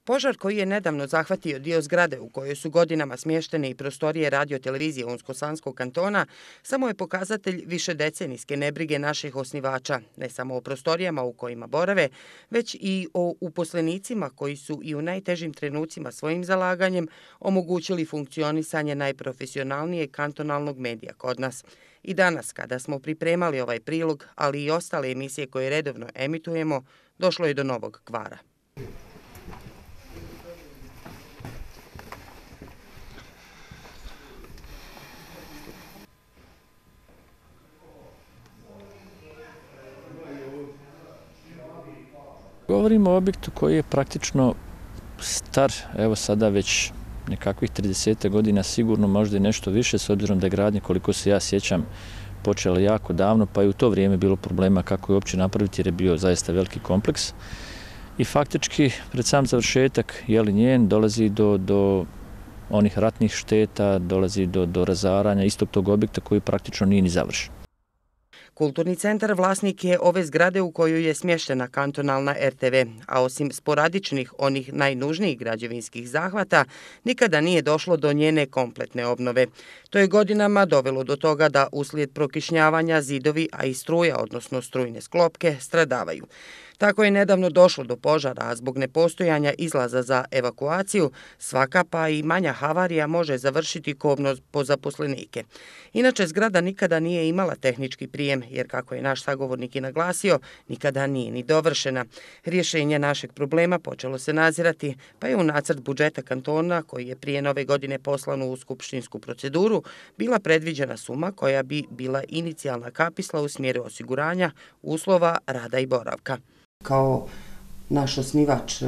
Požar koji je nedavno zahvatio dio zgrade u kojoj su godinama smještene i prostorije radio-televizije Unsko-Sanskog kantona samo je pokazatelj višedecenijske nebrige naših osnivača, ne samo o prostorijama u kojima borave, već i o uposlenicima koji su i u najtežim trenucima svojim zalaganjem omogućili funkcionisanje najprofesionalnijeg kantonalnog medija kod nas. I danas, kada smo pripremali ovaj prilog, ali i ostale emisije koje redovno emitujemo, došlo je do novog kvara. Govorimo o objektu koji je praktično star, evo sada već nekakvih 30 godina, sigurno možda i nešto više, s obzirom da je gradnja, koliko se ja sjećam, počela jako davno, pa je u to vrijeme bilo problema kako je uopće napraviti jer je bio zaista veliki kompleks. I faktički, pred sam završetak njen dolazi do onih ratnih šteta, dolazi do razaranja istog tog objekta koji praktično nije ni završen. Kulturni centar vlasnik je ove zgrade u kojoj je smještena kantonalna RTV, a osim sporadičnih, onih najnužnijih građevinskih zahvata, nikada nije došlo do njene kompletne obnove. To je godinama dovelo do toga da uslijed prokišnjavanja zidovi, a i struja, odnosno strujne sklopke, stradavaju. Tako je nedavno došlo do požara, a zbog nepostojanja izlaza za evakuaciju, svaka pa i manja havarija može završiti kobno po zaposlenike. Inače, zgrada nikada nije imala tehnički prijem, jer kako je naš sagovornik i naglasio, nikada nije ni dovršena. Rješenje našeg problema počelo se nazirati, pa je u nacrt budžeta kantona, koji je prije nove godine poslan u skupštinsku proceduru, bila predviđena suma koja bi bila inicijalna kapisla u smjeru osiguranja uslova rada i boravka. Kao naš osnivač,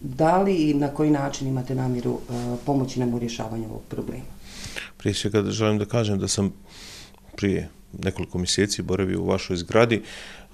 da li i na koji način imate namjeru pomoći nam u rješavanju ovog problema? Prije svega želim da kažem da sam prije nekoliko mjeseci boravio u vašoj zgradi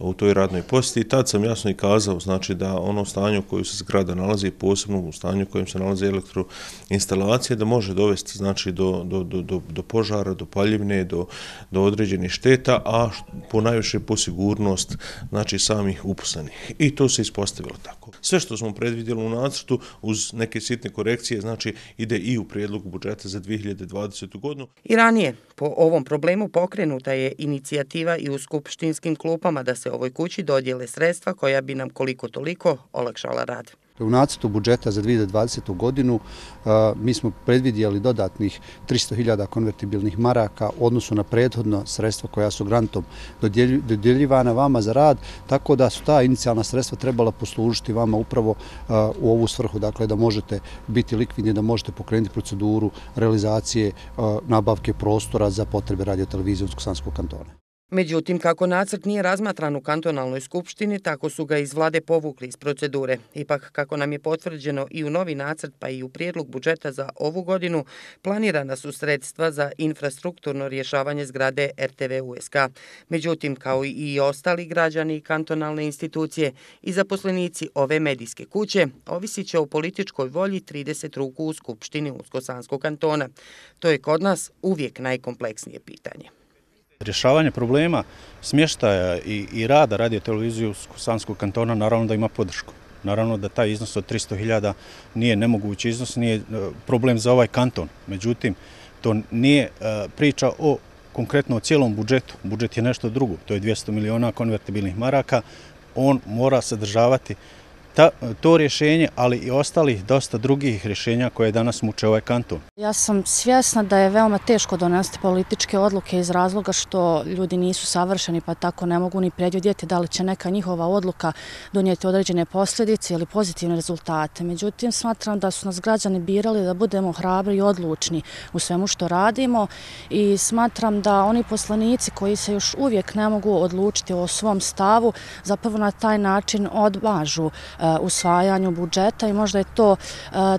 u toj radnoj posjeti i tad sam jasno i kazao, znači da ono stanje u kojem se zgrada nalazi, posebno u stanju u kojem se nalaze elektroinstalacije, da može dovesti znači do požara, do paljevine, do određenih šteta, a ponajviše po sigurnost znači samih uposlenih. I to se ispostavilo tako. Sve što smo predvidjeli u nacrtu uz neke sitne korekcije, znači ide i u prijedlogu budžeta za 2020. godinu. I ranije po ovom problemu pokrenuta je inicijativa i u skupštinskim klupama da se ovoj kući dodijele sredstva koja bi nam koliko toliko olakšala rad. U nacrtu budžeta za 2020. godinu mi smo predvidjeli dodatnih 300.000 konvertibilnih maraka u odnosu na prethodno sredstva koja su grantom dodjeljivana vama za rad, tako da su ta inicijalna sredstva trebala poslužiti vama upravo u ovu svrhu, dakle da možete biti likvidni, da možete pokrenuti proceduru realizacije nabavke prostora za potrebe radio-televizije Unsko-Sanskog kantona. Međutim, kako nacrt nije razmatran u kantonalnoj skupštini, tako su ga iz vlade povukli iz procedure. Ipak, kako nam je potvrđeno i u novi nacrt, pa i u prijedlog budžeta za ovu godinu, planirana su sredstva za infrastrukturno rješavanje zgrade RTV USK. Međutim, kao i ostali građani i kantonalne institucije i zaposlenici ove medijske kuće, ovisit će o političkoj volji 30 ruku u skupštini Unsko-Sanskog kantona. To je kod nas uvijek najkompleksnije pitanje. Rješavanje problema smještaja i rada radio-televizije Unsko-Sanskog kantona naravno da ima podršku. Naravno da taj iznos od 300.000 nije nemogući iznos, nije problem za ovaj kanton. Međutim, to nije priča o konkretno o cijelom budžetu. Budžet je nešto drugo, to je 200 miliona konvertibilnih maraka. On mora sadržavati to rješenje, ali i ostalih dosta drugih rješenja koje danas muče ovaj kanton. Ja sam svjesna da je veoma teško donositi političke odluke iz razloga što ljudi nisu savršeni, pa tako ne mogu ni predvidjeti da li će neka njihova odluka donijeti određene posljedice ili pozitivne rezultate. Međutim, smatram da su nas građani birali da budemo hrabri i odlučni u svemu što radimo i smatram da oni poslanici koji se još uvijek ne mogu odlučiti o svom stavu, zapravo na taj način odmažu usvajanju budžeta i možda je to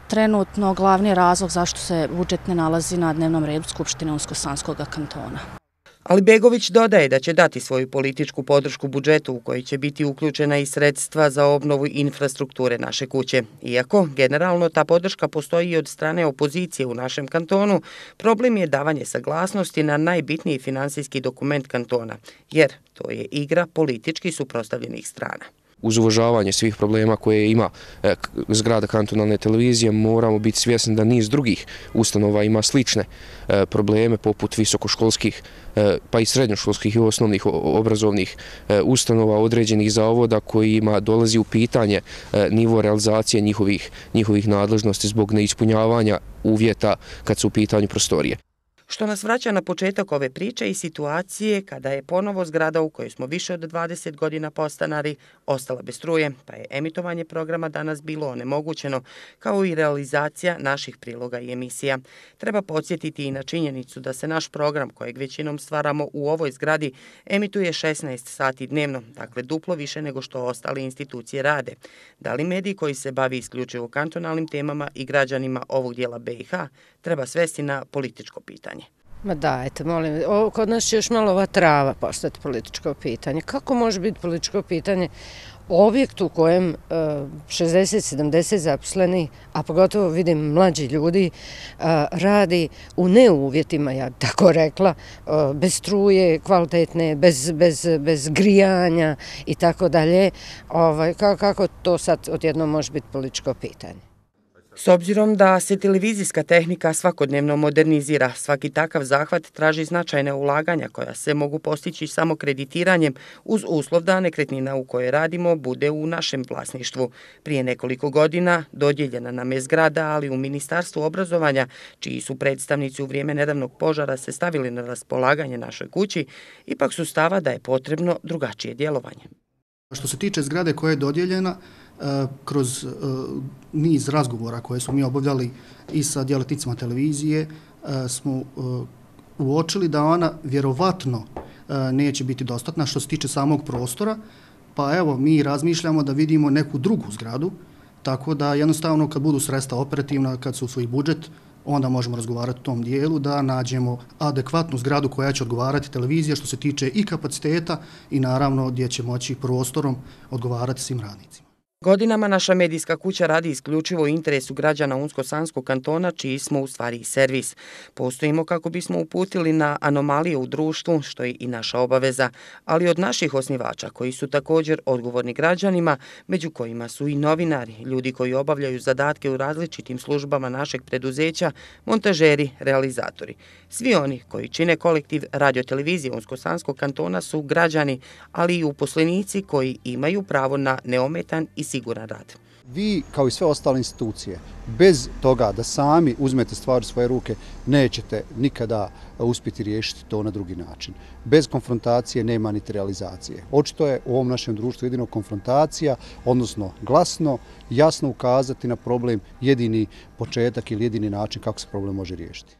trenutno glavni razlog zašto se budžet ne nalazi na dnevnom redu Skupštine Unsko-Sanskog kantona. Ali Begović dodaje da će dati svoju političku podršku budžetu u koji će biti uključena i sredstva za obnovu infrastrukture naše kuće. Iako, generalno, ta podrška postoji i od strane opozicije u našem kantonu, problem je davanje saglasnosti na najbitniji finansijski dokument kantona, jer to je igra politički suprotstavljenih strana. Uz uvažavanje svih problema koje ima zgrada kantonalne televizije, moramo biti svjesni da niz drugih ustanova ima slične probleme poput visokoškolskih pa i srednjoškolskih i osnovnih obrazovnih ustanova određenih zavoda kojima dolazi u pitanje nivo realizacije njihovih nadležnosti zbog neispunjavanja uvjeta kad su u pitanju prostorije. Što nas vraća na početak ove priče i situacije kada je ponovo zgrada u kojoj smo više od 20 godina postanari ostala bez struje, pa je emitovanje programa danas bilo onemogućeno, kao i realizacija naših priloga i emisija. Treba podsjetiti i na činjenicu da se naš program, kojeg većinom stvaramo u ovoj zgradi, emituje 16 sati dnevno, dakle duplo više nego što ostale institucije rade. Da li mediji koji se bavi isključivo kantonalnim temama i građanima ovog dijela BiH treba svesti na političko pitanje? Ma dajte, molim, kod nas će još malo ova trava postati političko pitanje. Kako može biti političko pitanje objekt u kojem 60-70 zaposleni, a pogotovo vidim mlađi ljudi, radi u neuvjetima, ja tako rekla, bez struje kvalitetne, bez grijanja i tako dalje. Kako to sad odjednom može biti političko pitanje? S obzirom da se televizijska tehnika svakodnevno modernizira, svaki takav zahvat traži značajne ulaganja koja se mogu postići samo kreditiranjem uz uslov da nekretnina u kojoj radimo bude u našem vlasništvu. Prije nekoliko godina dodijeljena nam je zgrada, ali u Ministarstvu obrazovanja, čiji su predstavnici u vrijeme nedavnog požara se stavili na raspolaganje našoj kući, ipak su stava da je potrebno drugačije djelovanje. Što se tiče zgrade koja je dodijeljena, kroz niz razgovora koje smo mi obavljali i sa djelatnicima televizije, smo uočili da ona vjerovatno neće biti dostatna što se tiče samog prostora, pa evo mi razmišljamo da vidimo neku drugu zgradu, tako da jednostavno kad budu sredstva operativna, kad su svoj budžet, onda možemo razgovarati u tom dijelu da nađemo adekvatnu zgradu koja će odgovarati televizija što se tiče i kapaciteta i naravno gdje će moći prostorom odgovarati svim radnicima. Godinama naša medijska kuća radi isključivo u interesu građana Unsko-Sanskog kantona, čiji smo u stvari i servis. Postojimo kako bismo uputili na anomalije u društvu, što je i naša obaveza, ali od naših osnivača, koji su također odgovorni građanima, među kojima su i novinari, ljudi koji obavljaju zadatke u različitim službama našeg preduzeća, montažeri, realizatori. Svi oni koji čine kolektiv radiotelevizije Unsko-Sanskog kantona su građani, ali i uposlenici koji imaju pravo na neometan i siguran rad. Vi, kao i sve ostale institucije, bez toga da sami uzmete stvar u svoje ruke, nećete nikada uspjeti riješiti to na drugi način. Bez konfrontacije nema niti realizacije. Očito je u ovom našem društvu jedino konfrontacija, odnosno glasno, jasno ukazati na problem, jedini početak ili jedini način kako se problem može riješiti.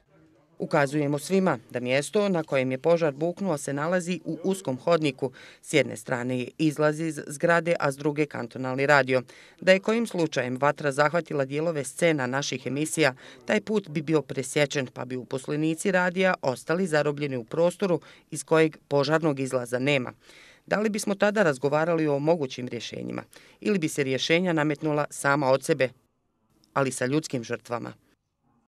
Ukazujemo svima da mjesto na kojem je požar buknuo se nalazi u uskom hodniku. S jedne strane je izlaz iz zgrade, a s druge kantonalni radio. Da je kojim slučajem vatra zahvatila dijelove scena naših emisija, taj put bi bio presječen, pa bi uposlenici radija ostali zarobljeni u prostoru iz kojeg požarnog izlaza nema. Da li bismo tada razgovarali o mogućim rješenjima? Ili bi se rješenja nametnula sama od sebe, ali sa ljudskim žrtvama?